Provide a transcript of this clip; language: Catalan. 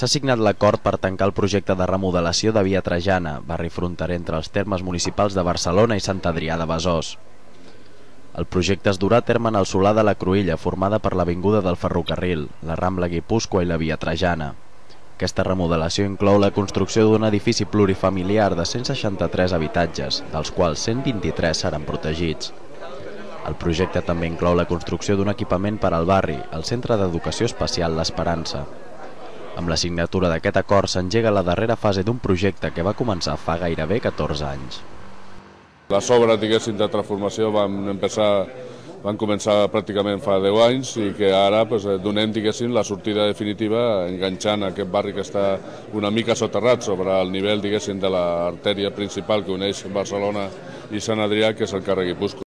S'ha signat l'acord per tancar el projecte de remodelació de Via Trajana, barri fronterer entre els termes municipals de Barcelona i Sant Adrià de Besòs. El projecte es durà a terme en el solar de la Cruïlla, formada per l'avinguda del Ferrocarril, la Rambla Guipúscoa i la Via Trajana. Aquesta remodelació inclou la construcció d'un edifici plurifamiliar de 163 habitatges, dels quals 123 seran protegits. El projecte també inclou la construcció d'un equipament per al barri, el Centre d'Educació Especial L'Esperança. Amb la signatura d'aquest acord s'engega la darrera fase d'un projecte que va començar fa gairebé 14 anys. Les obres, diguéssim, de transformació van començar pràcticament fa 10 anys i que ara donem, diguéssim, la sortida definitiva enganxant aquest barri que està una mica soterrat sobre el nivell, diguéssim, de l'artèria principal que uneix Barcelona i Sant Adrià, que és el carrer Guipúscoa.